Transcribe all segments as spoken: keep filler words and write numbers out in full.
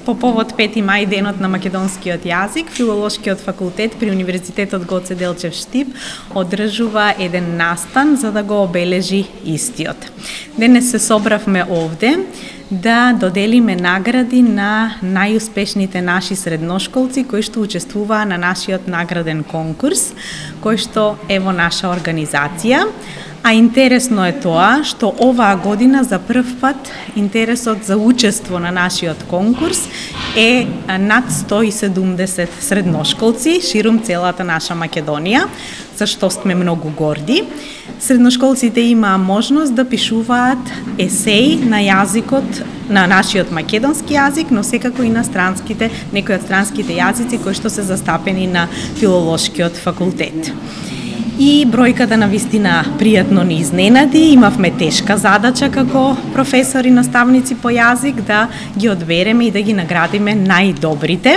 По повод пети мај, денот на македонскиот јазик, Филолошкиот факултет при Универзитетот Гоце Делчев Штип одржува еден настан за да го обележи истиот. Денес се собравме овде да доделиме награди на најуспешните наши средношколци кои што учествуваа на нашиот награден конкурс, кој што е во наша организација. А интересно е тоа што оваа година за прв пат интересот за учество на нашиот конкурс е над сто и седумдесет средношколци ширум целата наша Македонија, за што сме многу горди. Средношколците имаа можност да пишуваат есеи на јазикот, на нашиот македонски јазик, но секако и на странските, некои од странските јазици кои што се застапени на Филолошкиот факултет. И бројката на вистина пријатно ни изненади. Имавме тешка задача како професори, наставници по јазик да ги одбереме и да ги наградиме најдобрите.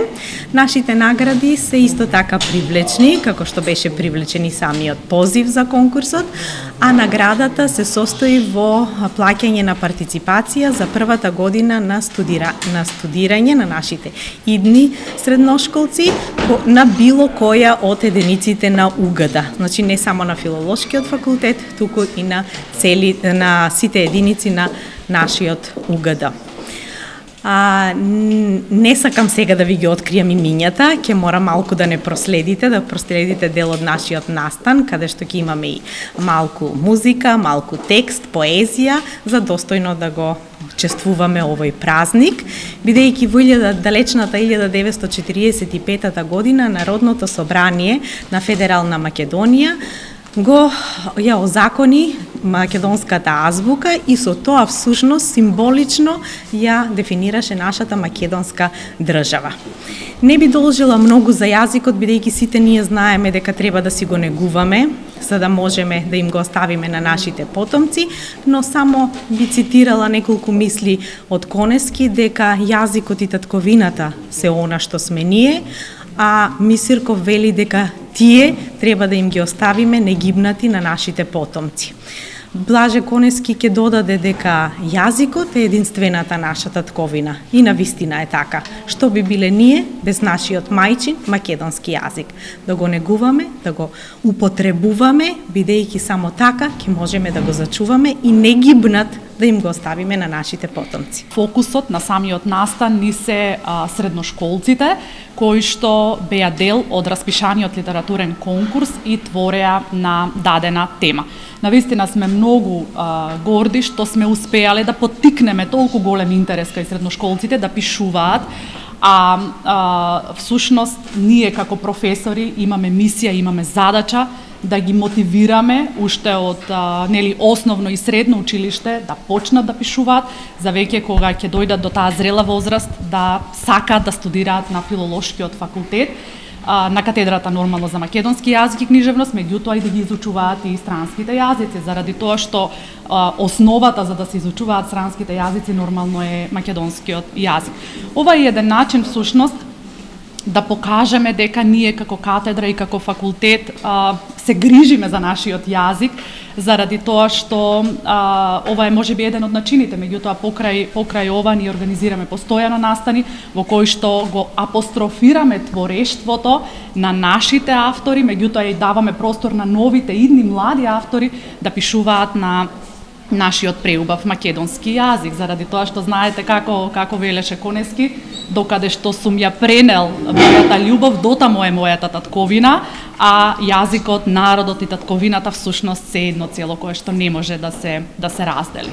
Нашите награди се исто така привлечни, како што беше привлечен и самиот позив за конкурсот, а наградата се состои во плаќање на партиципација за првата година на, студира, на студирање на нашите идни средношколци на било која од единиците на УГД. Значи не само на Филолошкиот факултет, туку и на цели на сите единици на нашиот УГД. А, не сакам сега да ви ги откријам имињата, ќе мора малку да не проследите, да проследите дел од нашиот настан, каде што ќе имаме и малку музика, малку текст, поезија, за достојно да го чествуваме овој празник, бидејќи во далечната илјада деветстотини четиридесет и петата година Народното собрание на Федерална Македонија го ја озакони македонската азбука и со тоа всушност символично ја дефинираше нашата македонска држава. Не би должела многу за јазикот, бидејќи сите ние знаеме дека треба да си го негуваме, за да можеме да им го оставиме на нашите потомци, но само би цитирала неколку мисли од Конески дека јазикот и татковината се она што сме ние, а Мисирков вели дека тие треба да им ги оставиме негибнати на нашите потомци. Блаже Конески ќе додаде дека јазикот е единствената наша татковина и навистина е така. Што би биле ние без нашиот мајчин македонски јазик? Да го негуваме, да го употребуваме, бидејќи само така ќе можеме да го зачуваме и негибнат да им го оставиме на нашите потомци. Фокусот на самиот настан ни се а, средношколците, кои што беа дел од распишаниот литературен конкурс и твореа на дадена тема. Навистина сме многу а, горди што сме успеале да поттикнеме толку голем интерес кај средношколците да пишуваат, а, а всушност ние како професори имаме мисија, имаме задача да ги мотивираме уште од а, нели основно и средно училиште да почнат да пишуваат, за веќе кога ќе дојдат до таа зрела возраст да сакаат да студираат на Филолошкиот факултет, а, на катедрата нормално за македонски јазик и книжевност, меѓутоа и да ги изучуваат и странските јазици, заради тоа што а, основата за да се изучуваат странските јазици нормално е македонскиот јазик. Ова е еден начин всушност да покажеме дека ние како катедра и како факултет а, се грижиме за нашиот јазик, заради тоа што а, ова е можеби еден од начините, меѓутоа покрај покрај ова ние организираме постојано настани во кои што го апострофираме творештвото на нашите автори, меѓутоа и даваме простор на новите идни млади автори да пишуваат на нашиот преубав македонски јазик, заради тоа што знаете како како велеше Конески, докаде што сум ја пренел мојата љубов, дотамо е мојата татковина, а јазикот, народот и татковината всушност се едно цело кое што не може да се да се раздели.